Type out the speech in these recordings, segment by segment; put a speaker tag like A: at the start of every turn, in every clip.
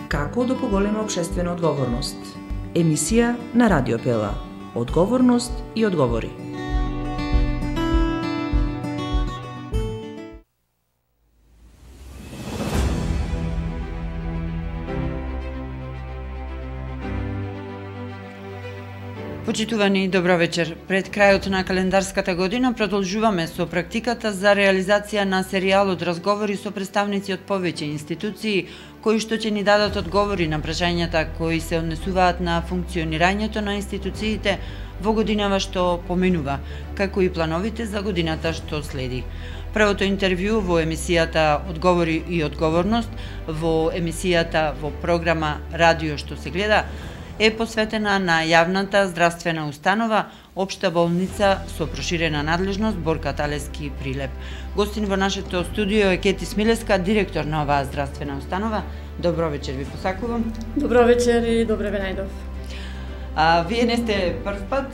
A: Како да поголема општествена одговорност? Емисија на Радио Пела. Одговорност и одговори.
B: Почитувани, добро вечер. Пред крајот на календарската година продолжуваме со практиката за реализација на серијалот разговори со представници од повеќе институции кои што ќе ни дадат одговори на прашањата кои се однесуваат на функционирањето на институциите во годинава што поминува, како и плановите за годината што следи. Првото интервју во емисијата Одговори и одговорност, во емисијата во програма Радио што се гледа, е посветена на јавната здравствена установа Општа болница со проширена надлежност Борка Талески Прилеп. Гостин во нашето студио е Кети Смилеска, директор на оваа здравствена установа. Добро вечер ви посакувам.
C: Добро вечер и добре ве најдов.
B: Вие не сте прв пат,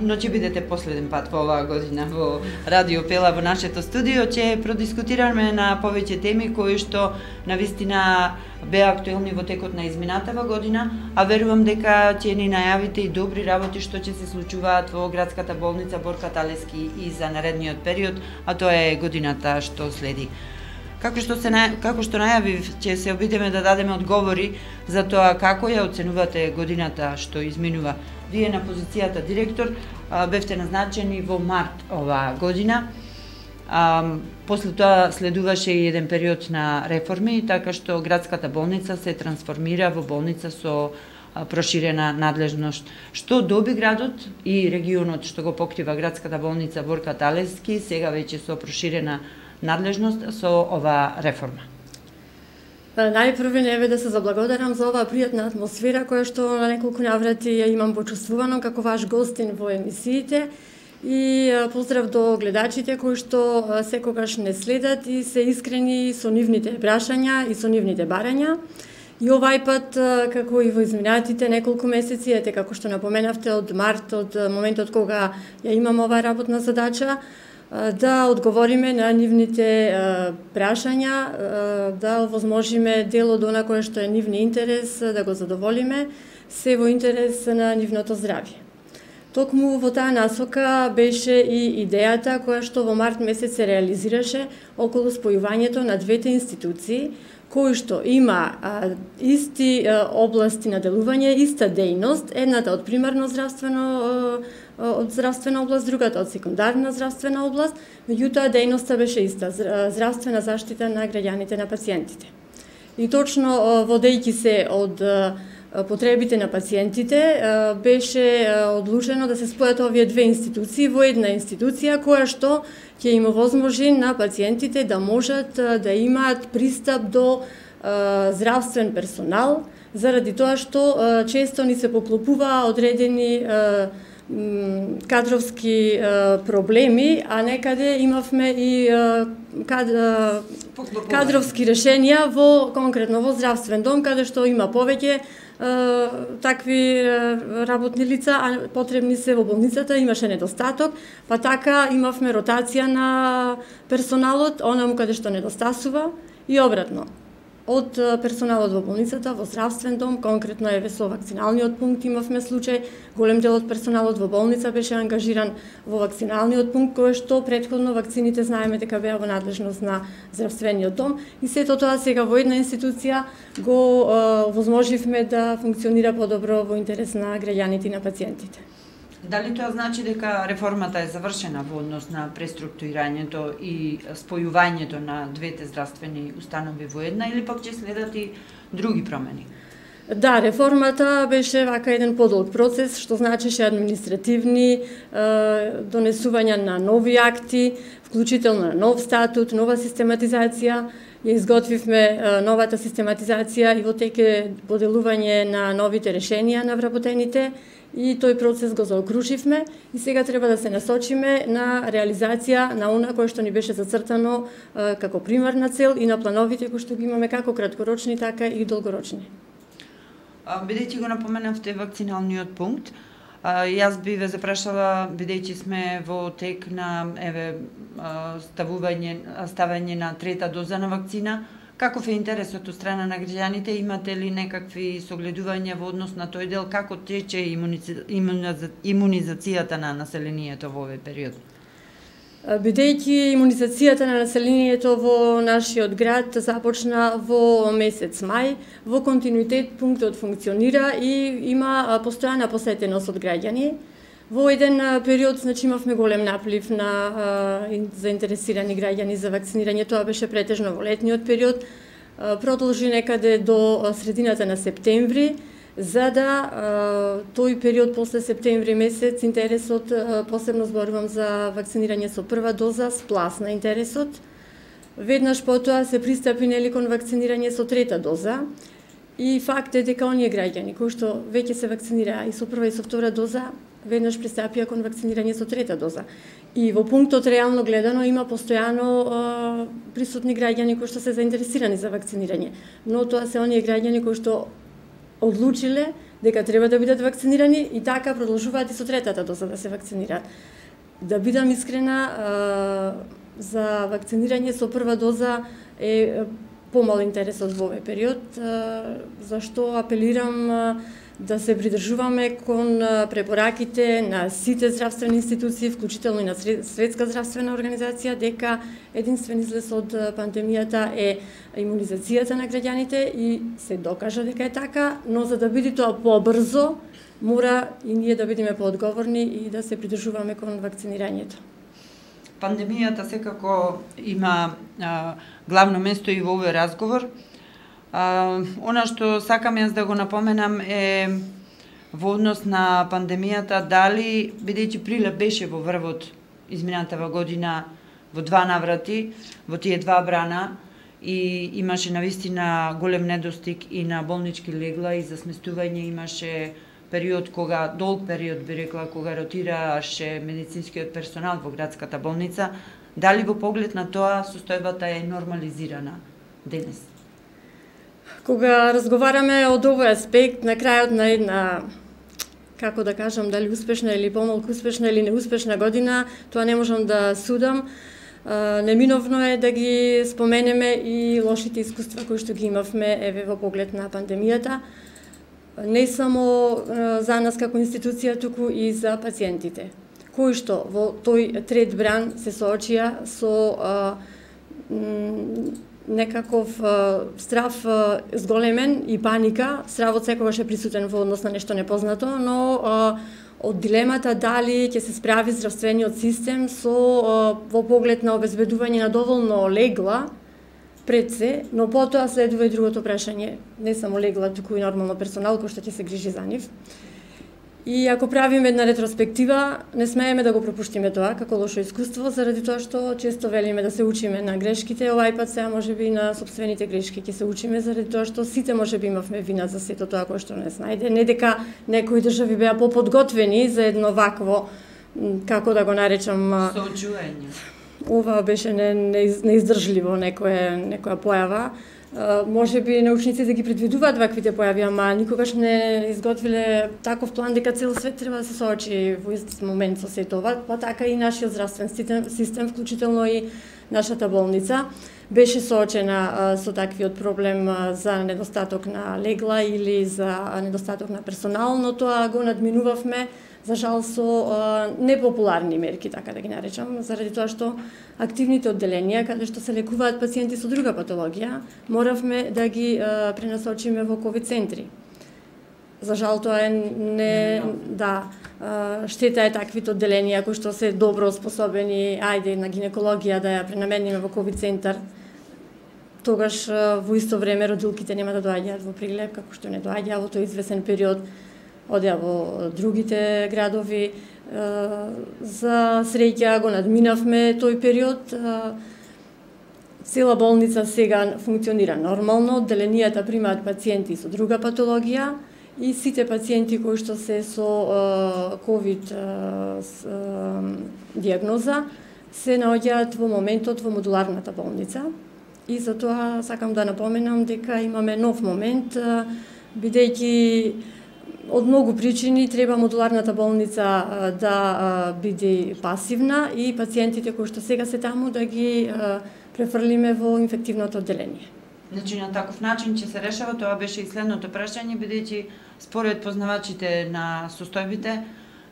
B: но ќе бидете последен пат во оваа година во Радио Пела во нашето студио. Ќе продискутираме на повеќе теми кои што навистина беа актуелни во текот на изминатава година, а верувам дека ќе ни најавите и добри работи што ќе се случуваат во градската болница Борка Талески и за наредниот период, а тоа е годината што следи. Како што најавив, ќе се обидеме да дадеме одговори за тоа како ја оценувате годината што изминува. Вие на позицијата директор бевте назначени во март оваа година. После тоа следуваше и еден период на реформи, така што градската болница се трансформира во болница со проширена надлежност. Што доби градот и регионот што го покрива градската болница Борка Талески, сега веќе со проширена надлежност со оваа реформа?
C: Најпрви не да се заблагодарам за оваа пријатна атмосфера која што на неколку наврати ја имам почувствувано како ваш гостин во емисиите и поздрав до гледачите кои што секогаш не следат и се искрени со нивните прашања и со нивните барања. И овај пат, како и во изминатите неколку месеци, ете како што напоменавте од март, од моментот кога ја имам оваа работна задача, да одговориме на нивните прашања, да овозможиме дел од она кое што е нивни интерес, да го задоволиме, се во интерес на нивното здравје. Токму во таа насока беше и идејата која што во март месец се реализираше околу спојувањето на двете институции, кои што има исти области на делување, иста дејност, едната од примарно од здравствена област, другата од секундарна здравствена област, меѓутоа дејноста беше иста, здравствена заштита на граѓаните, на пациентите. И точно водејќи се од потребите на пациентите, беше одлучено да се спојат овие две институции во една институција која што ќе им овозможи на пациентите да можат да имаат пристап до здравствен персонал, заради тоа што често ни се поклопува одредени кадровски проблеми, а некаде имавме и кадровски решенија конкретно во здравствен дом, каде што има повеќе такви работни лица, а потребни се во болницата, имаше недостаток, па така имавме ротација на персоналот, онаму каде што недостасува и обратно. Од персоналот во болницата, во здравствен дом, конкретно еве со вакциналниот пункт имавме случај, голем дел од персоналот во болница беше ангажиран во вакциналниот пункт, кој што претходно вакцините знаеме дека беа во надлежност на здравствениот дом и сето тоа сега во една институција го возможивме да функционира подобро во интерес на граѓаните и на пациентите.
B: Дали тоа значи дека реформата е завршена во однос на преструктурирањето и спојувањето на двете здравствени установи во една или пак ќе следат и други промени?
C: Да, реформата беше вака еден подолг процес, што значеше административни донесувања на нови акти, вклучително на нов статут, нова систематизација. Ја изготвивме новата систематизација и во теке поделување на новите решенија на вработените и тој процес го заокруживме и сега треба да се насочиме на реализација на она кое што ни беше зацртано како примарна цел и на плановите кои што ги имаме како краткорочни, така и долгорочни.
B: Бидејќи го напоменавте вакциналниот пункт, Јас би ве запрашала, бидејќи сме во тек на ставање на трета доза на вакцина, Каков е интересот од страна на граѓаните? Имате ли некакви согледувања во однос на тој дел? Како тече имунизацијата на населението во овој период?
C: Бидејќи имунизацијата на населението во нашиот град започна во месец мај, во континуитет пунктот функционира и има постојана посетеност од граѓани. Во еден период, значи, имавме голем наплив на заинтересирани граѓани за вакцинирање. Тоа беше претежно во летниот период. Продолжи некаде до средината на септември, за да тој период после септември месец интересот, посебно зборувам за вакцинирање со прва доза, спласна интересот. Веднаш потоа се пристапи кон вакцинирање со трета доза. И факт е дека оние граѓани кои што веќе се вакцинираа и со прва и со втора доза, веднаш пристапија кон вакцинирање со трета доза. И во пунктот реално гледано има постојано присутни граѓани кои што се заинтересирани за вакцинирање. Но тоа се оние граѓани кои што одлучиле дека треба да бидат вакцинирани и така продолжуваат и со третата доза да се вакцинираат. Да бидам искрена, за вакцинирање со прва доза е помал интересот во овој период, зашто апелирам да се придржуваме кон препораките на сите здравствени институции, вклучително и на Светска здравствена организација, дека единствен излез од пандемијата е имунизацијата на граѓаните и се докажа дека е така, но за да биде тоа побрзо, мора и ние да бидеме поодговорни и да се придржуваме кон вакцинирањето.
B: Пандемијата секако има главно место и во овој разговор. Она што сакам јас да го напоменам е во однос на пандемијата, дали, бидејќи Прилеп беше во врвот изминатава година во два наврати, во тие два брана, и имаше навистина голем недостиг и на болнички легла и за сместување, имаше период кога, долг период би рекла, кога ротираше медицинскиот персонал во градската болница. Дали во поглед на тоа состојбата е нормализирана денес?
C: Кога разговараме од овој аспект, на крајот на една, како да кажам, дали успешна или помалку успешна или неуспешна година, тоа не можам да судам. Неминовно е да ги споменеме и лошите искуства кои што ги имавме еве во поглед на пандемијата. Не само за нас како институција, туку и за пациентите, кои што во тој трет бран се соочија со некаков страв зголемен и паника. Стравот секогаш е присутен во однос на нешто непознато, но од дилемата дали ќе се справи здравствениот систем со во поглед на обезбедување на доволно легла пред се, но потоа следува и другото прашање, не само легла, туку и нормално персонал кој што ќе се грижи за нив. И ако правиме една ретроспектива, не смееме да го пропуштиме тоа како лошо искуство, заради тоа што често велиме да се учиме на грешките, овај пат сега можеби на сопствените грешки ќе се учиме, заради тоа што сите можеби имавме вина за сето тоа кое што не снајде. Не дека некои држави беа поподготвени за едно вакво, како да го наречам,
B: соочување.
C: Ова беше неиздржливо некоја појава. Можеби научниците да ги предвидуваат ваквите појави, ама никогаш не изготвиле таков план дека цел свет треба да се соочи во ист момент со сето ова, па така и нашиот здравствен систем, вклучително и нашата болница, беше соочена со таквиот проблем за недостаток на легла или за недостаток на персонал, но тоа го надминувавме, за жал, со непопуларни мерки, така да ги наречам, заради тоа што активните одделенија, каде што се лекуваат пациенти со друга патологија, моравме да ги пренасочиме во ковид центри. За жал, тоа е штета е таквите одделенија кои што се добро способени, ајде на гинекологија да ја пренамениме во ковид центар, тогаш во исто време родилките нема да доаѓаат во Прилеп, како што не доаѓаа во тој извесен период, одеа во другите градови. За среќа го надминавме тој период. Цела болница сега функционира нормално, одделенијата примаат пациенти со друга патологија и сите пациенти кои што се со ковид диагноза се наоѓаат во моментот во модуларната болница. И затоа сакам да напоменам дека имаме нов момент, бидејќи од многу причини треба модуларната болница да биде пасивна и пациентите кои што сега се таму да ги префрлиме во инфективното одделение.
B: Значи, на таков начин ќе се решава, тоа беше и следното прашање, бидејќи според познавачите на состојбите,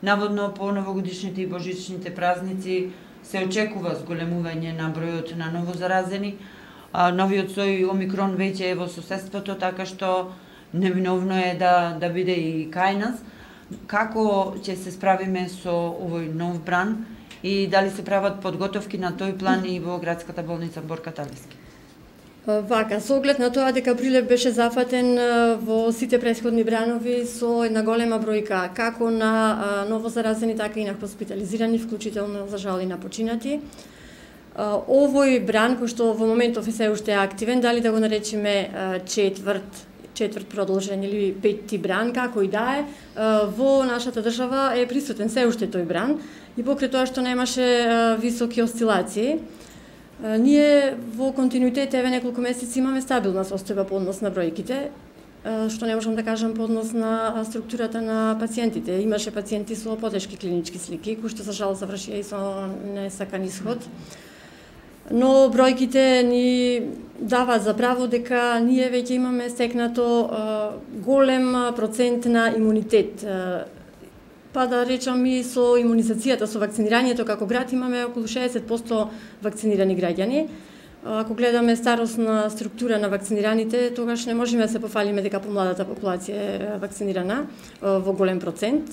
B: наводно по новогодишните и божичните празници се очекува зголемување на бројот на новозаразени. Новиот сој Омикрон веќе е во соседството, така што неминовно е да биде и кај нас. Како ќе се справиме со овој нов бран и дали се прават подготовки на тој план и во градската болница Борка Талевски?
C: Вака, со оглед на тоа дека Прилеп беше зафатен во сите претходни бранови со една голема бројка како на новозаразени, така и на хоспитализирани, вклучително за жал и на починати. Овој бран, кој што во моментов е се уште активен, дали да го наречеме четврт продолжен или петти бран, како и да е, во нашата држава е присутен се уште тој бран и покрај тоа што немаше високи осцилации, ние во континуитет еве неколку месеци имаме стабилна состојба по однос на бројките, што не можам да кажам по однос на структурата на пациентите. Имаше пациенти со потешки клинички слики, кои што за жал завршија и со несакан исход. Но бројките ни даваат за право дека ние веќе имаме стекнато голем процент на имунитет. Па да речам и со имунизацијата, со вакцинирањето како град имаме околу 60% вакцинирани граѓани. Ако гледаме старосна структура на вакцинираните, тогаш не можеме да се пофалиме дека помладата популација е вакцинирана во голем процент.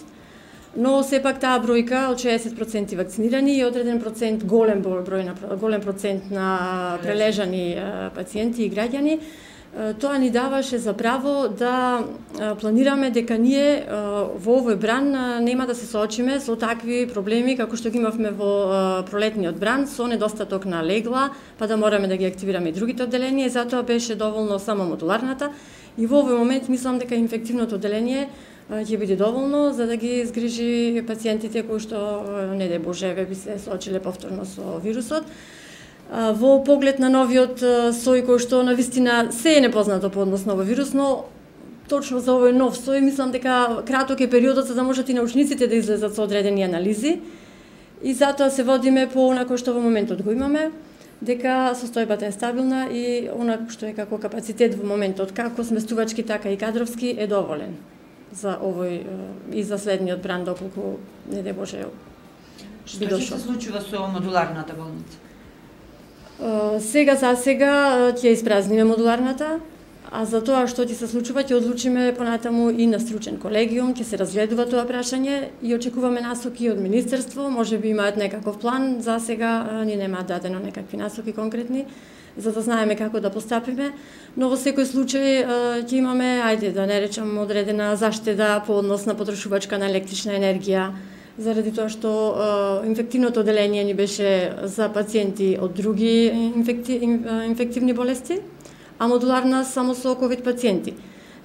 C: Но сепак таа бројка од 60% вакцинирани и одреден процент, голем процент на прележани пациенти и граѓани, тоа ни даваше за право да планираме дека ние во овој бран нема да се соочиме со такви проблеми како што ги имавме во пролетниот бран, со недостаток на легла, па да мораме да ги активираме и другите одделенија, и затоа беше доволно само модуларната. И во овој момент мислам дека инфективното одделение ќе биде доволно за да ги згрижи пациентите кои што, не дај Боже, би се соочиле повторно со вирусот. Во поглед на новиот сој кој што навистина се е непознато по однос на овој вирус, но точно за овој нов сој мислам дека краток е периодот за да можат и научниците да излезат со одредени анализи и затоа се водиме по онако што во моментот го имаме, дека состојбата е стабилна и онако што е како капацитет во моментот, како сместувачки, така и кадровски е доволен за овој и за следниот бран доколку не дај Боже
B: би дошол. Што ќе се случува со модуларната болница?
C: Сега за сега ќе испразниме модуларната, а за тоа што ќе се случува ќе одлучиме понатаму и на стручен колегиум, ќе се разгледува тоа прашање и очекуваме насоки од министерство, можеби имаат некаков план, за сега ни немаат дадено некакви насоки конкретни, за да знаеме како да постапиме, но во секој случај ќе имаме, ајде да не речам, одредена заштеда по однос на потрошувачка на електрична енергија, заради тоа што инфективното одделение ни беше за пациенти од други инфективни болести, а модуларна само со ковид пациенти.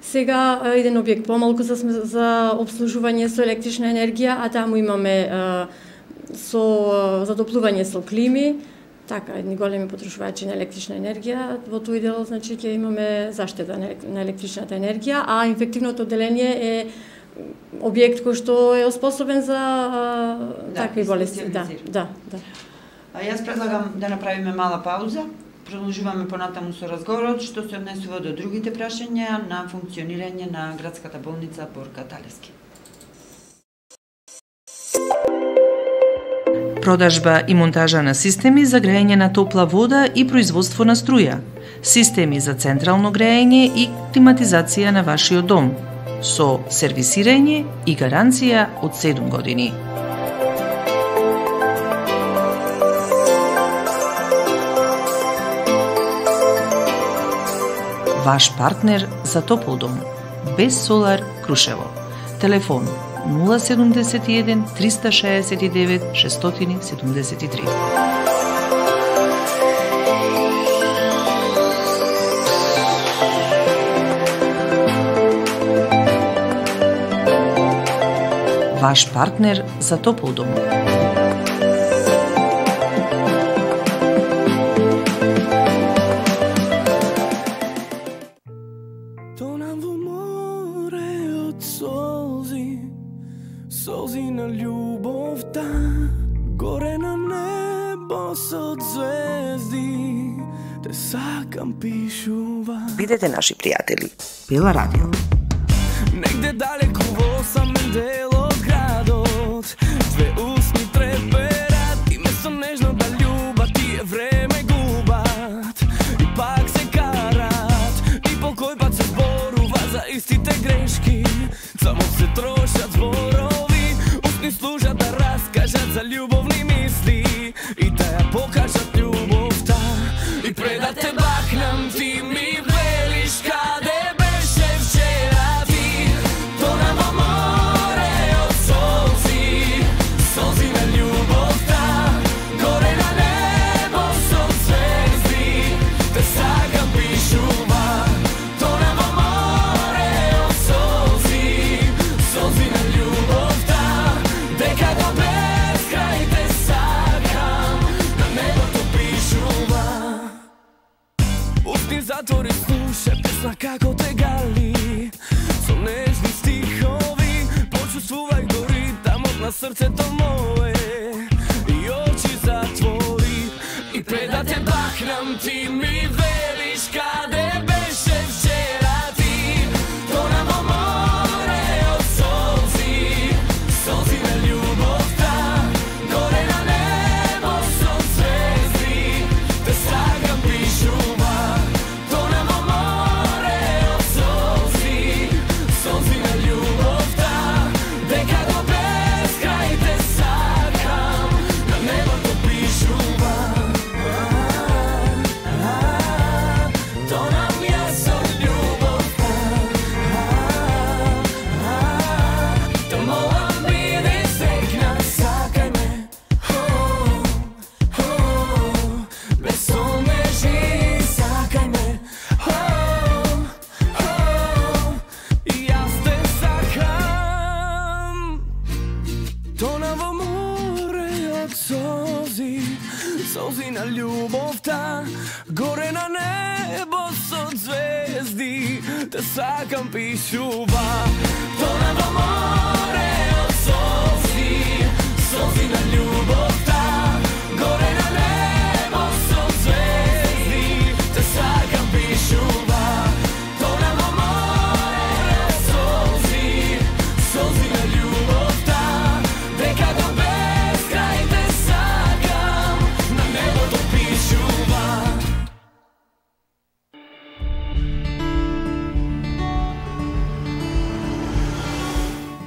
C: Сега еден објект помалку за обслужување со електрична енергија, а таму имаме со задоплување со клими, така едни големи потрошувачи на електрична енергија. Во тој дел значи ќе имаме заштеда на електричната енергија, а инфективното одделение е објект кој што е оспособен за такви болести. Да.
B: Јас предлагам да направиме мала пауза. Продолжуваме понатаму со разговорот што се однесува до другите прашања на функционирање на градската болница Борка Талевски.
A: Продажба и монтажа на системи за грејење на топла вода и производство на струја, системи за централно грејење и климатизација на вашиот дом, со сервисирање и гаранција од 7 години. Ваш партнер за топол дом. Без Солар Крушево. Телефон 071 369 673. Ваш партнер за топол дом.
D: Тонам во море од солзи на љубовта, горе на небо со звезди, те сакам пишува.
A: Бидете наши пријатели. Пела радио.
D: Негде далеку во самен дел од градот, две усни треперат и место нежно да љубат тие време губат и пак се карат и по кој пат се зборува за истите грешки, само се трошат зборови, устни служат да раскажат за љубовни мисли и да ја покажат љубовта и пред да те бахнам ти ми велиш каде беше вчера ти, тона во море од солзи, солзи на љубовта, горе на небо со звезди, те сакам пишува, тона во море од солзи, солзи на љубовта, дека до безкрај те сакам, на небото пишува. Устни затвори слуша песна како те гали, со нежни стихови, почувствувај го ритамот на срцето мое и очи затвори и пред да те бахнам ти ми велиш каде беше вчера ти, тона во море од солзи, солзи на љубовта, горе на небо со звезди, те сакам пишува, тона во море од солзи, солзи на љубовта, дека до безкрај те сакам, на небото пишува. Тона ми е со љубовта, да молам биде срекна, сакај ме, без омежи, сакај ме, и јас те сакам. Тона во море од солзи, солзи на љубовта, горе на небо со звезди, те сакам пишува. Тона во море од солзи, солзи на љубовта, горе на небо со звезди, те сакам пишува. Тона во море од солзи, солзи на љубовта, дека до безкрај те сакам, на небото пишува.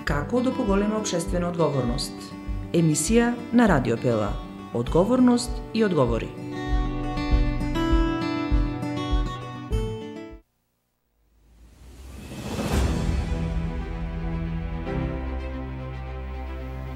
A: Како да поголема општествена одговорност? Емисија на Радио Пела. Одговорност и одговори.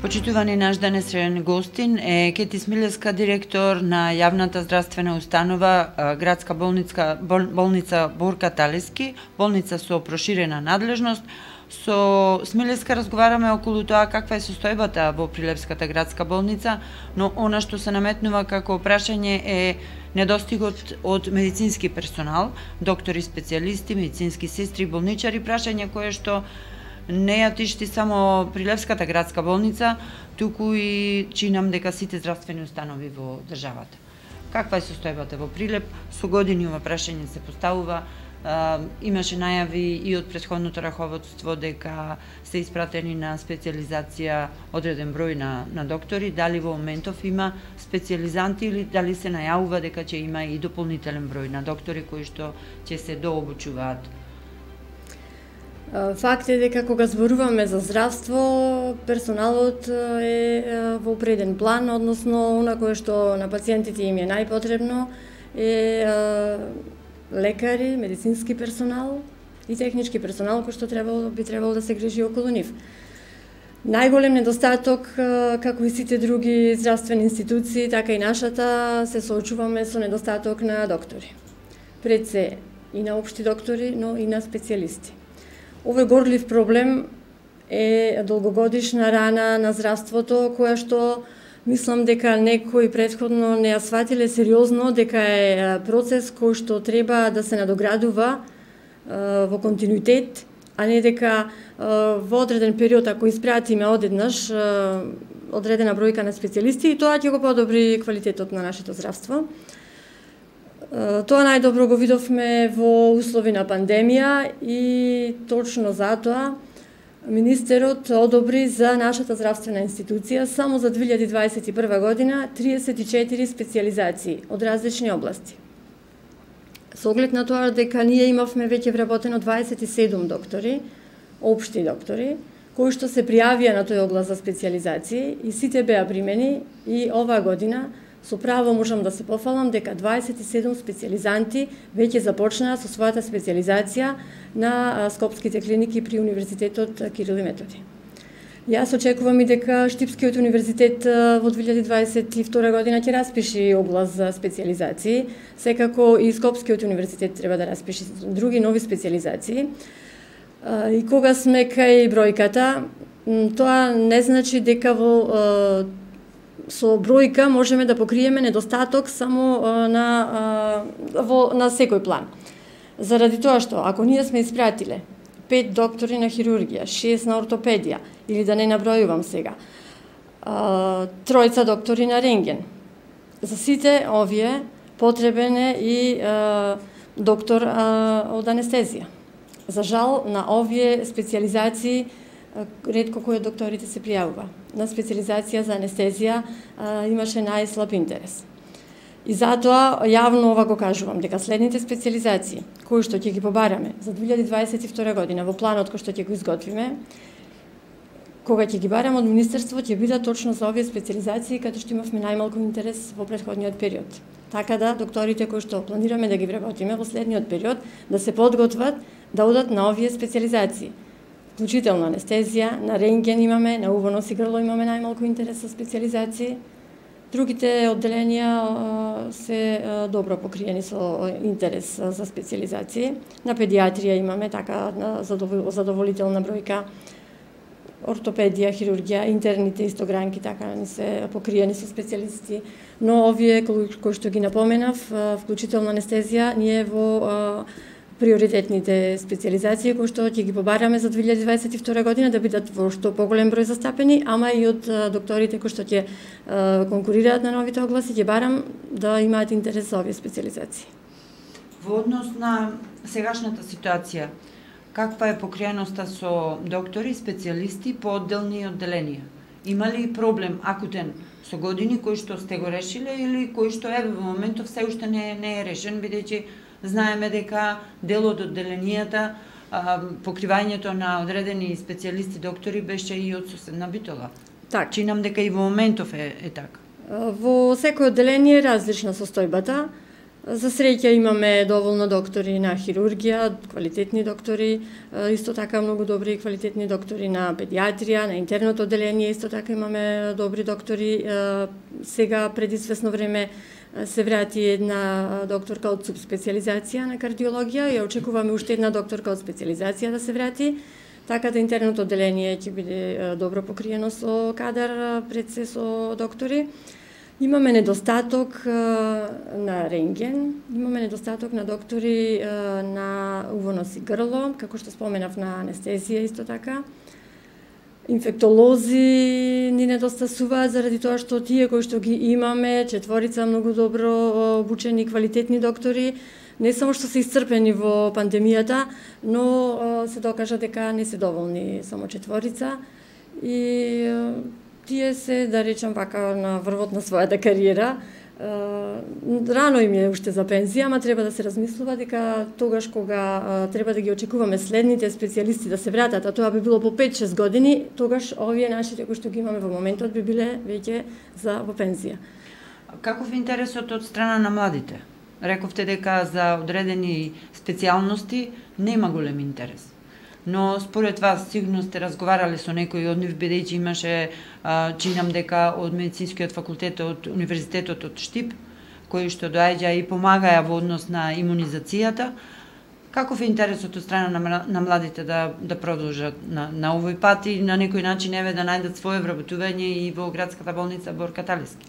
B: Почитувани наш денесен гостин е Кети Смилевска, директор на јавната здравствена установа градска болница Борка Талески, болница со проширена надлежност. Со Смилевска разговараме околу тоа каква е состојбата во Прилепската градска болница, но она што се наметнува како прашање е недостигот од медицински персонал, доктори, специјалисти, медицински сестри, болничари, прашање кое што не ја тишти само Прилепската градска болница, туку и чинам дека сите здравствени установи во државата. Каква е состојбата во Прилеп? Со години ова прашање се поставува. Имаше најави и од претходното раководство дека се испратени на специјализација одреден број на доктори. Дали во моментов има специјализанти или дали се најавува дека ќе има и дополнителен број на доктори кои што ќе се дообучуваат?
C: Факт е дека кога зборуваме за здравство, персоналот е во преден план, односно она кое што на пациентите им е најпотребно е лекари, медицински персонал и технички персонал кој што би требало да се грижи околу нив. Најголем недостаток, како и сите други здравствени институции, така и нашата, се соочуваме со недостаток на доктори. Пред се и на општи доктори, но и на специјалисти. Овој горлив проблем е долгогодишна рана на здравството, која што мислам дека некои претходно не ја сватиле сериозно, дека е процес кој што треба да се надоградува во континуитет, а не дека во одреден период, ако испратиме одеднаш одредена бројка на специјалисти, и тоа ќе го подобри квалитетот на нашето здравство. Тоа најдобро го видовме во услови на пандемија и точно затоа Министерот одобри за нашата здравствена институција само за 2021 година 34 специализации од различни области. Со оглед на тоа дека ние имавме веќе вработено 27 доктори, општи доктори, кои што се пријавија на тој оглас за специализации и сите беа примени и оваа година со право можам да се пофалам дека 27 специализанти веќе започнаа со својата специализација на скопските клиники при Универзитетот Кирил и Методи. Јас очекувам и дека Штипскиот универзитет во 2022 година ќе распиши оглас за специализации, секако и Скопскиот универзитет треба да распиши други нови специализации. И кога сме кај бројката, тоа не значи дека со бројка можеме да покриеме недостаток само на секој план. Заради тоа што, ако ние сме испратиле 5 доктори на хирургија, 6 на ортопедија, или да не набројувам сега, 3 доктори на рентген, за сите овие потребен е и доктор од анестезија. За жал, на овие специализации ретко кој од докторите се пријавува. На специализација за анестезија имаше најслаб интерес. И затоа јавно ова го кажувам, дека следните специализации, кои што ќе ги побараме за 2022 година во планот кој што ќе го изготвиме, кога ќе ги бараме од Министерство, ќе бидат точно за овие специализации, каде што имавме најмалку интерес во претходниот период. Така да, докторите кои што планираме да ги вработиме во следниот период, да се подготват да одат на овие специализации. Вклучително анестезија, на рентген имаме, на уво, нос и грло имаме најмалку интерес за специализации. Другите одделенија се добро покриени со интерес за специализации. На педиатрија имаме така задоволителна бројка. Ортопедија, хирургија, интерните истогранки така не се покриени со специјалисти. Но овие кои што ги напоменав, вклучително анестезија, ние во приоритетните специализации кои што ќе ги побараме за 2022 година да бидат во што поголем број застапени, ама и од докторите кои што ќе конкурираат на новите огласи, ќе барам да имаат интерес за овие специализации.
B: Во однос на сегашната ситуација, каква е покриеноста со доктори, специјалисти по одделни одделенија? Има ли проблем акутен со години кои што сте го решиле или кои што во моментов се уште не е решен, бидејќи знаеме дека дел од одделенијата, покривањето на одредени специјалисти доктори беше и од соседна Битола.
C: Так.
B: Чинам дека и во моментов е така.
C: Во секој одделение е различна состојбата. За среќа имаме доволно доктори на хирургија, квалитетни доктори, исто така многу добри и квалитетни доктори на педиатрија, на интерното одделение исто така имаме добри доктори. Сега пред известно време се врати една докторка од субспециализација на кардиологија и очекуваме уште една докторка од специализација да се врати. Така да интерното одделение ќе биде добро покриено со кадар, пред се со доктори. Имаме недостаток на рентген, имаме недостаток на доктори на уво, нос и грло, како што споменав на анестезија исто така. Инфектолози ни недостасуваат заради тоа што тие кои што ги имаме, 4 многу добро обучени квалитетни доктори, не само што се исцрпени во пандемијата, но се докажа дека не се доволни само 4 и тие се, да речам вака, на врвот на својата кариера. Рано им е уште за пензија, ама треба да се размислува дека тогаш кога треба да ги очекуваме следните специјалисти да се вратат, а тоа би било по 5-6 години, тогаш овие нашите кои што ги имаме во моментот би биле веќе за во пензија.
B: Каков е интересот од страна на младите? Рековте дека за одредени специјалности нема голем интерес. Но според вас сигурно сте разговарале со некои од нив, бидејќи имаше, чинам дека од медицинскиот факултет од Универзитетот од Штип, кои што доаѓа и помагаја во однос на имунизацијата. Каков е интересот од страна на младите да продолжат на овој пат и на некој начин да најдат свое вработување и во градската болница Борка Талевски?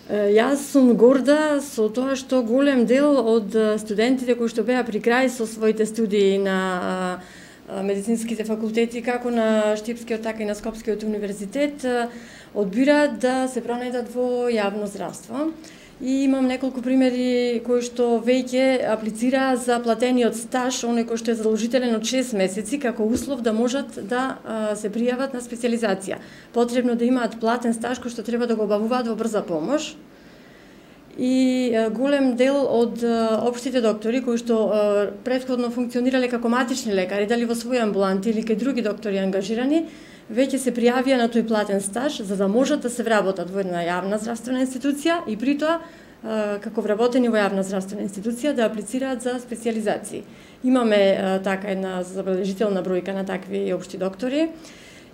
C: Јас сум горда со тоа што голем дел од студентите кои што беа при крај со своите студии на медицинските факултети, како на Штипскиот, така и на Скопскиот универзитет, одбираат да се пронајдат во јавно здравство. И имам неколку примери кои што веќе аплицираа за платениот стаж, оној кој што е задолжителен од 6 месеци, како услов да можат да се пријават на специализација. Потребно да имаат платен стаж кој што треба да го обавуваат во брза помош. И голем дел од општите доктори кои што претходно функционирале како матични лекари, дали во своји амбуланти или кај други доктори ангажирани, веќе се пријавија на тој платен стаж за да можат да се вработат во една јавна здравствена институција и при тоа како вработени во јавна здравствена институција да аплицираат за специализации. Имаме така една забележителна бројка на такви општи доктори.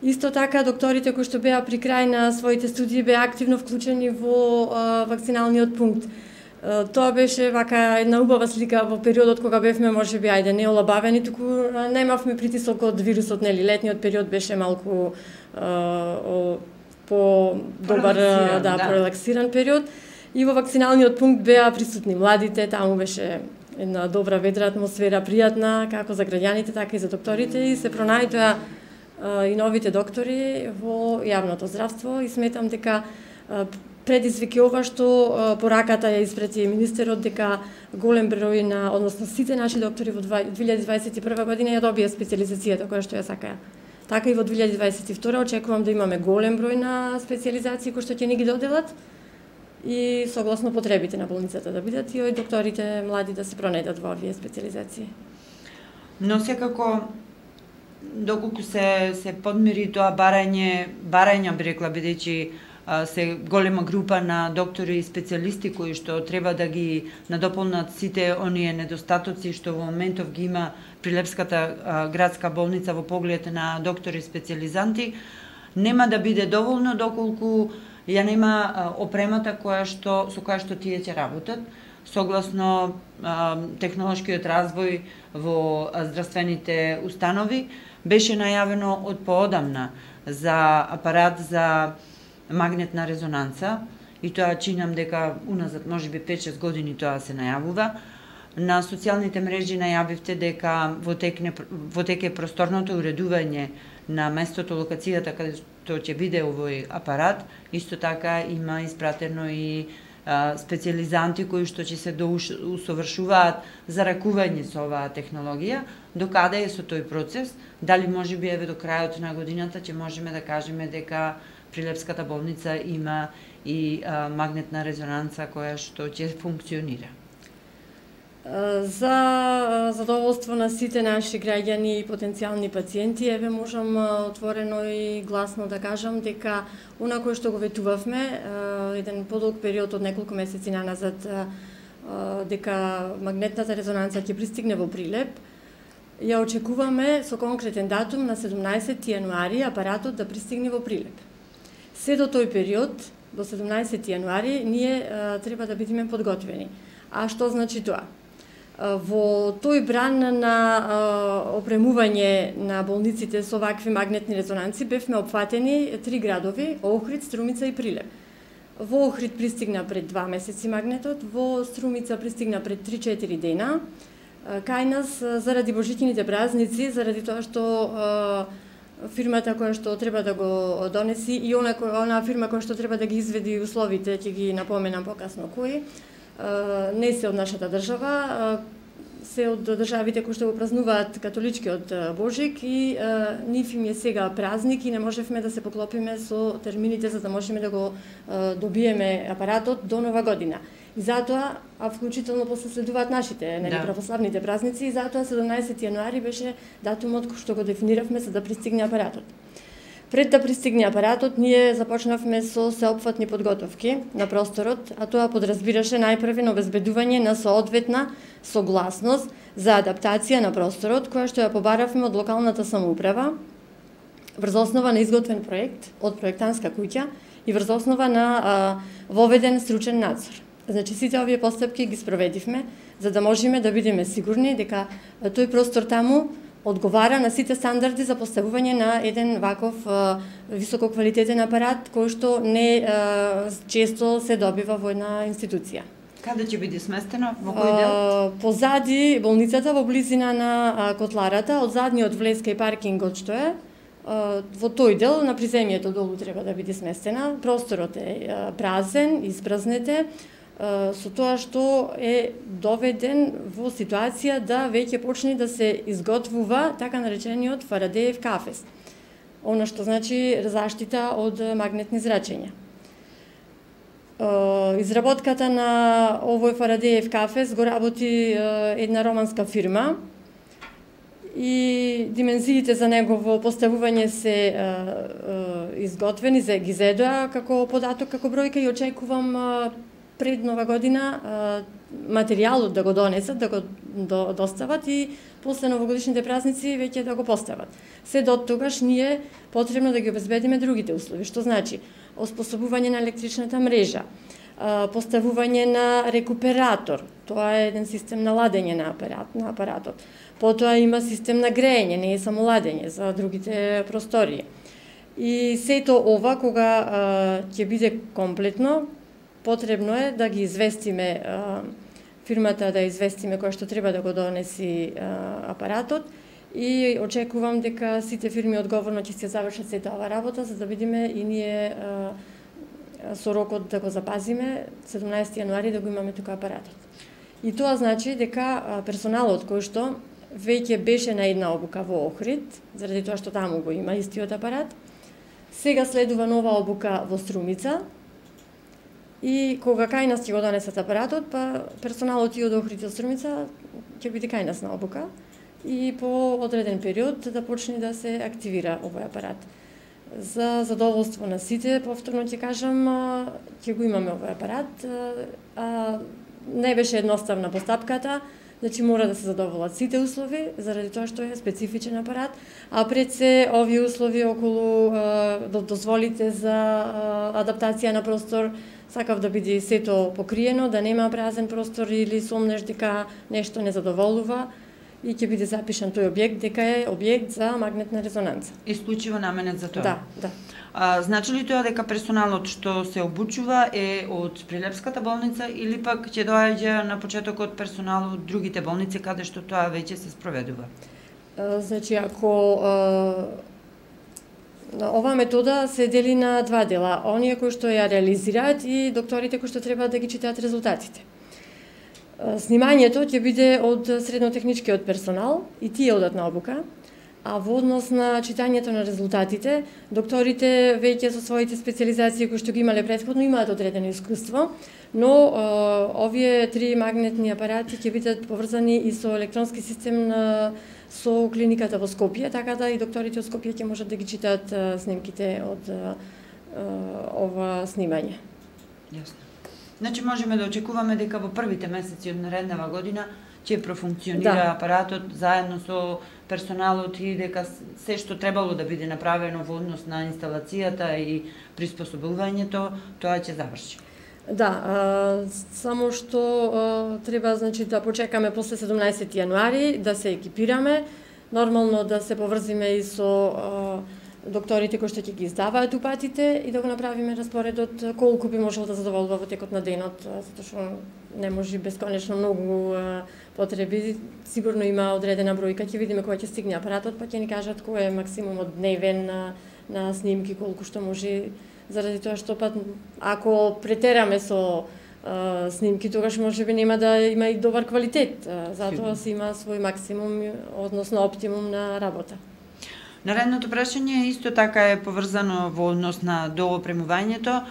C: Исто така докторите кои што беа при крај на своите студии беа активно вклучени во вакциналниот пункт. Тоа беше вака една убава слика во периодот кога бевме можеби не олабавени, туку немавме притисок од вирусот, нели, летниот период беше малку по добар, порелаксиран период. И во вакциналниот пункт беа присутни младите, таму беше една добра ведра атмосфера, пријатна како за граѓаните, така и за докторите, и се пронајдоа и новите доктори во јавното здравство и сметам дека предизвик ова што пораката ја испрати министерот дека голем број на, односно сите наши доктори во 2021 година ја добија специализацијата која што ја сакаја. Така и во 2022 очекувам да имаме голем број на специализации кои што ќе ни ги доделат и согласно потребите на болницата да бидат и докторите млади да се пронајдат во овие специализации.
B: Но секако доколку се подмири тоа барање би рекла, бидејќи се голема група на доктори и специјалисти кои што треба да ги надополнат сите оние недостатоци што во моментов ги има Прилепската градска болница во поглед на доктори и специјализанти, нема да биде доволно доколку ја нема опремата со која што тие ќе работат, согласно технолошкиот развој во здравствените установи. Беше најавено од поодамна за апарат за магнетна резонанца и тоа чинам дека уназад можеби 5-6 години тоа се најавува. На социјалните мрежи најавивте дека во тек е просторното уредување на местото, локацијата каде што ќе биде овој апарат. Исто така има испратено и специјализанти кои што ќе се усовршуваат за ракување со оваа технологија. Докаде е со тој процес? Дали можеби еве до крајот на годината ќе можеме да кажеме дека Прилепската болница има и магнетна резонанца која што ќе функционира?
C: За задоволство на сите наши граѓани и потенцијални пациенти, еве можам отворено и гласно да кажам дека она кое што го ветувавме еден подолг период од неколку месеци наназад дека магнетната резонанца ќе пристигне во Прилеп, ја очекуваме со конкретен датум на 17 јануари апаратот да пристигне во Прилеп. Се до тој период, до 17 јануари, ние треба да бидеме подготвени. А што значи тоа? Во тој бран на опремување на болниците со вакви магнетни резонанци бевме опфатени 3 градови: Охрид, Струмица и Прилеп. Во Охрид пристигна пред 2 месеци магнетот, во Струмица пристигна пред 3-4 дена. Кај нас, заради божичните празници, заради тоа што фирмата која што треба да го донеси и она фирма која што треба да ги изведи условите, ќе ги напоменам покасно кои, не се од нашата држава, се од државите кои што го празнуваат католичкиот Божик и нив им е сега празник и не можевме да се поклопиме со термините за да можеме да го добиеме апаратот до Нова година. И затоа, а вклучително после следуваат нашите православните празници, и затоа 17 јануари беше датумот кој што го дефиниравме за да пристигне апаратот. Пред да пристигне апаратот, ние започнавме со сеопфатни подготовки на просторот, а тоа подразбираше најпрвен обезбедување на соодветна согласност за адаптација на просторот, која што ја побаравме од локалната самоуправа, врз основа на изготвен проект од проектантска куќа и врз основа на воведен стручен надзор. Значи, сите овие постапки ги спроведивме, за да можеме да бидеме сигурни дека тој простор таму одговара на сите стандарди за поставување на еден ваков висококвалитетен апарат, кој што не често се добива во една институција.
B: Каде ќе биде сместено? Во кој дел?
C: Позади болницата, во близина на котларата, од задниот влез кај паркингот што е, во тој дел на приземјето долу треба да биде сместена. Просторот е празен, испразнете. со тоа што е доведен во ситуација да веќе почне да се изготвува така наречениот Фарадеев кафес. Она што значи заштита од магнетни зрачења. Изработката на овој Фарадеев кафес го работи една романска фирма и димензиите за негово поставување се изготвени, ги зедоа како податок, како бројка и очекувам пред Нова година материјалот да го донесат, да го достават и после новогодишните празници веќе да го постават. Се до тогаш ние потребно да ги обезбедиме другите услови, што значи оспособување на електричната мрежа, поставување на рекуператор, тоа е еден систем на ладење на апаратот. Потоа има систем на грејење, не е само ладење за другите простории. И сето ова кога ќе биде комплетно, потребно е да ги известиме фирмата, да известиме која што треба да го донеси апаратот и очекувам дека сите фирми одговорно ќе се завршат сета ова работа за да видиме и ние со рокот да го запазиме 17 јануари да го имаме тука апаратот. И тоа значи дека персоналот кој што веќе беше на една обука во Охрид, заради тоа што таму го има истиот апарат, сега следува нова обука во Струмица. И кога кај нас ќе го донесат апаратот, па персоналот и од Охрид и од Струмица ќе биде кај нас на обука и по одреден период да почне да се активира овој апарат. За задоволство на сите, повторно ќе кажам, ќе го имаме овој апарат. Не беше едноставна постапката, значи мора да се задоволат сите услови, заради тоа што е специфичен апарат, а пред се овие услови околу дозволите за адаптација на простор, сакав да биде сето покриено, да нема празен простор или сомнеш дека нешто не задоволува и ќе биде запишан тој објект дека е објект за магнетна резонанца.
B: Исклучиво наменет за тоа?
C: Да.
B: Значи ли тоа дека персоналот што се обучува е од Прилепската болница или пак ќе доаѓа на почетокот персонал од другите болници каде што тоа веќе се спроведува?
C: Значи, ако оваа метода се дели на два дела, оние кои што ја реализираат и докторите кои што треба да ги читаат резултатите. Снимањето ќе биде од среднотехничкиот персонал и тие одат на обука, а во однос на читањето на резултатите, докторите веќе со своите специализации кои што ги имале претходно имаат одредено искуство, но овие три магнетни апарати ќе бидат поврзани и со електронски систем со клиниката во Скопје, така да и докторите од Скопје ќе можат да ги читаат снимките од ова снимање.
B: Јасно. Значи можеме да очекуваме дека во првите месеци од нареднава година ќе профункционира апаратот заедно со персоналот и дека се што требало да биде направено во однос на инсталацијата и приспособувањето, тоа ќе заврши.
C: Да, само што треба значи да почекаме после 17 јануари да се екипираме, нормално да се поврзиме и со докторите кои што ќе ги издаваат упатите и да го направиме распоредот колку би можело да задоволува во текот на денот, затоа што не може бесконечно многу потреби. Сигурно има одредена бројка, ќе видиме кога ќе стигне апаратот, па ќе ни кажат кој е максимумот дневен на снимки, колку што може, заради тоа што па ако претераме со снимки, тогаш можеби нема да има и добар квалитет. Затоа се има свој максимум, односно оптимум на работа.
B: Наредното прашање исто така е поврзано во однос на доопремувањето.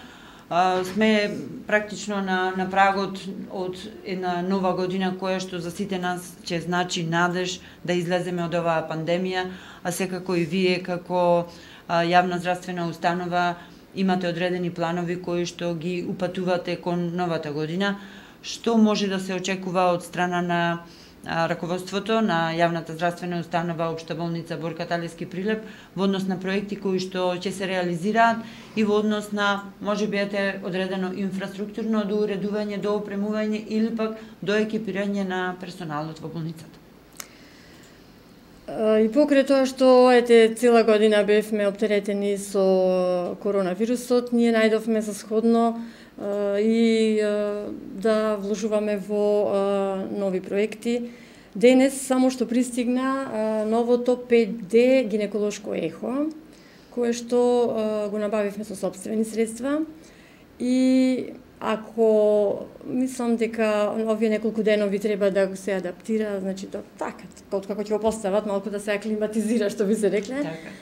B: Сме практично на прагот од една нова година која што за сите нас ќе значи надеж да излеземе од оваа пандемија, а секако и вие како јавна здравствена установа имате одредени планови кои што ги упатувате кон новата година. Што може да се очекува од страна на раководството на јавната здравствена установа Општа болница Борка Талевски Прилеп во однос на проекти кои што ќе се реализираат и во однос на можеби одредено инфраструктурно доуредување, доопремување или пак доекипирање на персоналот во болницата?
C: И покрај тоа што цела година бевме оптеретени со коронавирусот, ние најдовме за сходно и да вложуваме во нови проекти. Денес само што пристигна новото 5D гинеколошко ехо, кое што го набавивме со сопствени средства и ако мислам дека овие неколку денови треба да се адаптира, значи така, како ќе го постават, малку да се аклиматизира, што би се рекле.
B: Така.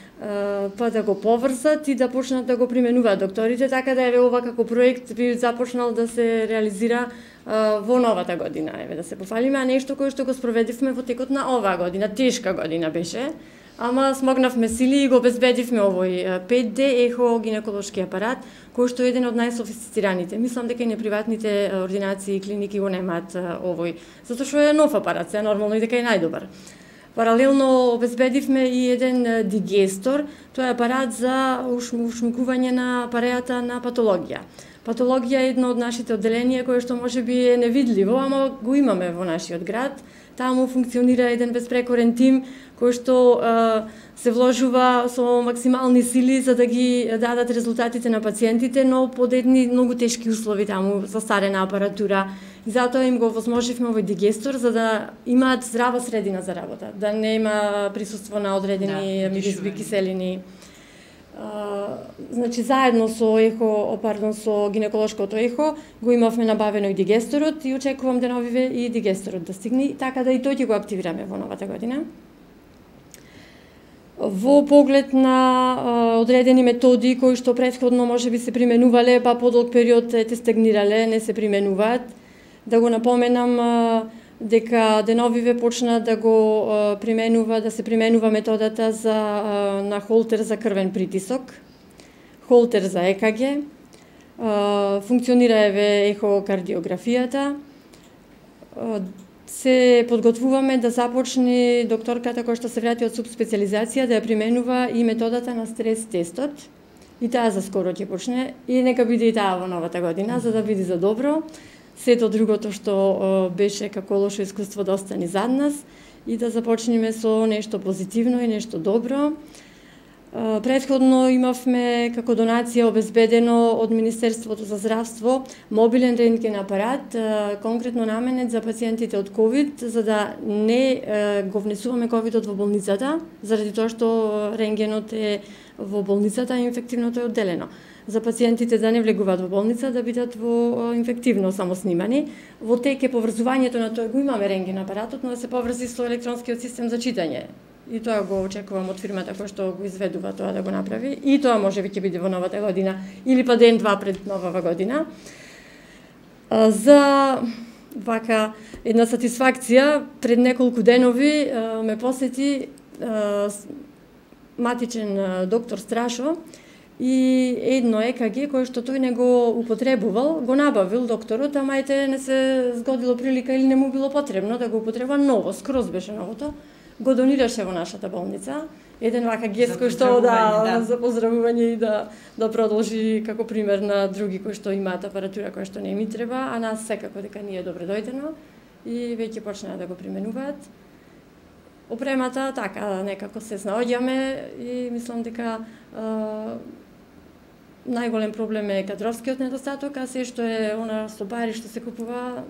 C: Па да го поврзат и да почнат да го применуваат докторите, така да еве ова како проект би започнал да се реализира во новата година, еве да се пофалиме, а нешто кое што го спроведивме во текот на оваа година, тешка година беше, ама смогнавме сили и го обезбедивме овој 5D ехо гинеколошки апарат, кој што е еден од најсофистицираните. Мислам дека и неприватните ординации и клиники го немаат овој, затоа што е нов апарат, се нормално и дека е најдобар. Паралелно обезбедивме и еден дигестор, тоа е апарат за ушмукување на пареата на патологија. Патологија е едно од нашите одделенија кое што можеби е невидливо, ама го имаме во нашиот град. Таму функционира еден безпрекорен тим кој што се вложува со максимални сили за да ги дадат резултатите на пациентите, но под едни многу тешки услови таму, застарена апаратура. И затоа им го возможивме овој дигестор за да имаат здрава средина за работа, да нема присуство на одредени миризби, киселини. Значи заедно со гинеколошкото ехо го имавме набавено и дигесторот и очекувам деновиве и дигесторот да стигне, така да и тој ќе го активираме во новата година. Во поглед на одредени методи кои што претходно можеби се применувале, па подолг период те стагнирале, не се применуваат, да го напоменам дека деновиве почна да го да се применува методата на холтер за крвен притисок, холтер за ЕКГ, функционира еве ехокардиографијата. Се подготвуваме да започне докторката која што се врати од субспециализација да ја применува и методата на стрес тестот. И таа за скоро ќе почне и нека биде и таа во новата година за да биде за добро. Сето другото што беше како лошо искуство да остане зад нас и да започнеме со нешто позитивно и нешто добро. Претходно имавме како донација обезбедено од Министерството за здравство мобилен рентген апарат, конкретно наменет за пациентите од ковид, за да не го внесуваме ковидот во болницата, заради тоа што рентгенот е во болницата, а инфективното е одделено. За пациентите да не влегуваат во болница, да бидат во инфективно самоснимани. Во тек е поврзувањето на тоа, го имаме рентген апаратот, но да се поврзи со електронскиот систем за читање. И тоа го очекувам од фирмата која што го изведува тоа да го направи. И тоа можеби ќе биде во новата година или па ден-два пред новава година. За вака една сатисфакција, пред неколку денови ме посети матичен доктор Страшо и едно ЕКГ кое што тој не го употребувал, го набавил докторот, ама ете не се згодило прилика или не му било потребно да го употреба ново, скроз беше новото. Го донираше во нашата болница. Еден вака гест кој што за поздравување и да продолжи како пример на други кои што имаат апаратура која што не ми треба, а нас секако дека ни е добре дојдено и веќе почнаа да го применуваат. Опремата така некако се снаоѓаме и мислам дека најголем проблем е кадровскиот недостаток, а се што е она со пари што се купува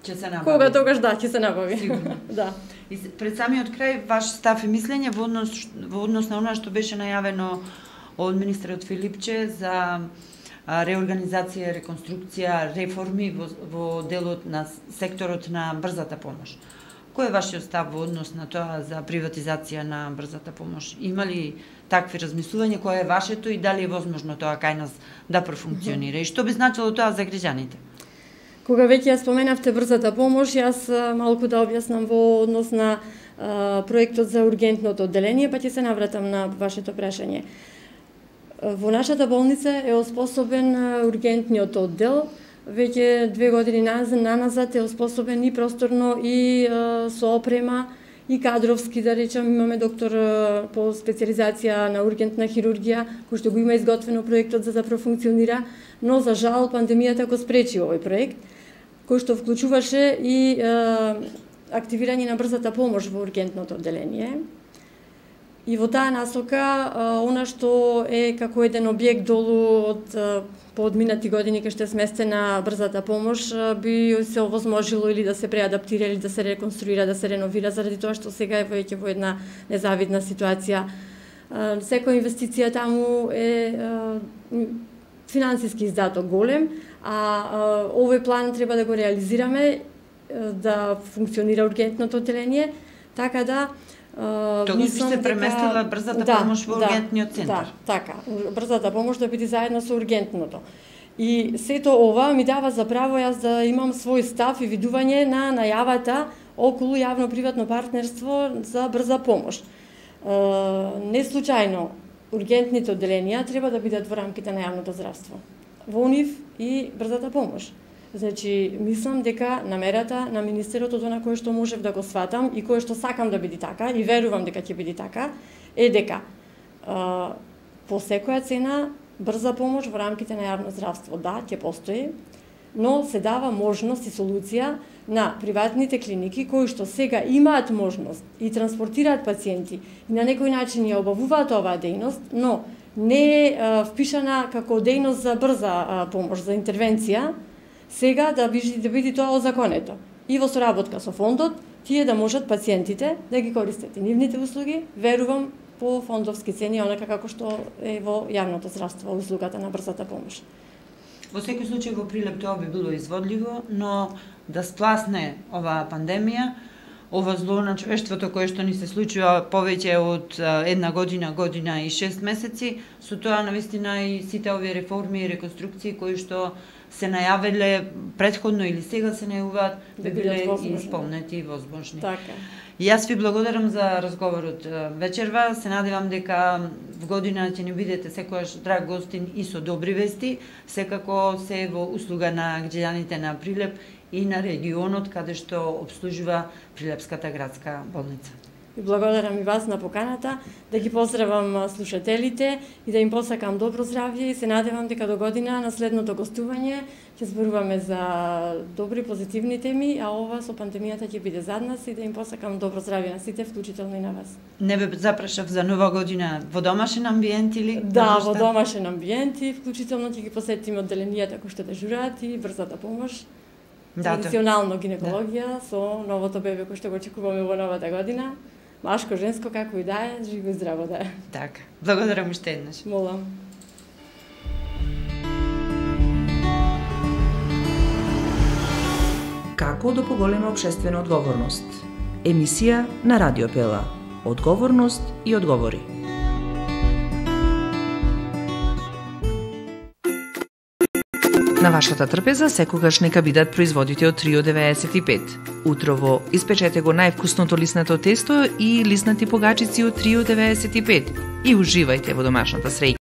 B: ќе се набави.
C: Кога тогаш ќе се набави.
B: Сигурно.
C: Да.
B: И пред самиот крај ваш став и мислење во однос на она што беше најавено од министерот Филипче за реорганизација, реконструкција, реформи во делот на секторот на брзата помош. Кој е вашиот став во однос на тоа за приватизација на брзата помош? Има ли такви размислувања, кое е вашето и дали е возможно тоа кај нас да профункционира? И што би значило тоа за граѓаните?
C: Кога веќе ја споменавте брзата помош, јас малку да објаснам во однос на проектот за ургентното одделение, па ќе се навратам на вашето прашање. Во нашата болница е оспособен ургентниот оддел, веќе 2 години наназад е оспособен и просторно и со опрема и кадровски, да речам, имаме доктор по специализација на ургентна хирургија, кој што го има изготвено проектот за да профункционира, но за жал пандемијата го спречи овој проект, кој што вклучуваше и активирање на брзата помош во ургентното одделение. И во таа насока, она што е како еден објект долу од поодминати години кај што е сместена брзата помош, би се овозможило или да се преадаптира, или да се реконструира, да се реновира, заради тоа што сега е веќе во една незавидна ситуација. Секоја инвестиција таму е финансиски издаток голем, овој план треба да го реализираме да функционира ургентното одделение, така да
B: Тогаш би се преместила брзата помош во ургентниот центар.
C: Да, така. Брзата помош да биде заедно со ургентното. И сето ова ми дава за право јас да имам свој став и видување на најавата околу јавно-приватно партнерство за брза помош. Не случајно ургентните одделенија треба да бидат во рамките на јавното здравство. Во нив и брзата помош. Значи, мислам дека намерата на министерот од она кое што можев да го сватам и кое што сакам да биде така и верувам дека ќе биде така, е дека по секоја цена брза помош во рамките на јавно здравство, да, ќе постои, но се дава можност и солуција на приватните клиники кои што сега имаат можност и транспортираат пациенти и на некој начин ја обавуваат оваа дејност, но не е впишана како дејност за брза помош, за интервенција, сега да биде тоа озаконето. И во соработка со фондот, тие да можат пациентите да ги користат и нивните услуги, верувам, по фондовски цени, онака како што е во јавното здравство, услугата на брзата помош.
B: Во секој случај во Прилеп тоа би било изводливо, но да спласне оваа пандемија, ова зло на човештвото кое што ни се случува повеќе од една година, година и 6 месеци, со тоа навистина и сите овие реформи и реконструкции кои што се најавиле претходно или сега се најавуваат, би биле исполнети и возможни.
C: Така.
B: Јас ви благодарам за разговорот вечерва. Се надевам дека в година ќе ни бидете секојаш драг гостин и со добри вести, секако се во услуга на граѓаните на Прилеп и на регионот каде што обслужува Прилепската градска болница.
C: И благодарам и вас на поканата, да ги поздравам слушателите и да им посакам добро здравје и се надевам дека до година на следното гостување ќе зборуваме за добри позитивни теми, а ова со пандемијата ќе биде зад нас и да им посакам добро здравје на сите, вклучително и на вас.
B: Не ве запрашав за нова година во домашен амбиент или?
C: Да, во домашен амбиент и вклучително ќе ги посетиме одделенијата кои што дежураат и брзата помош. Традиционално гинекологија со новото бебе кој што го очекуваме во новата година. Машко, женско, како и да е, живо и здраво да е.
B: Така. Благодарам уште еднаш.
C: Молам.
A: Како да поголема општествена одговорност? Емисија на Радио Пела. Одговорност и одговори. На вашата трпеза секогаш нека бидат производите од Трио 95. Утрово испечете го највкусното лиснато тесто и лиснати погачици од Трио 95 и уживајте во домашната среќа.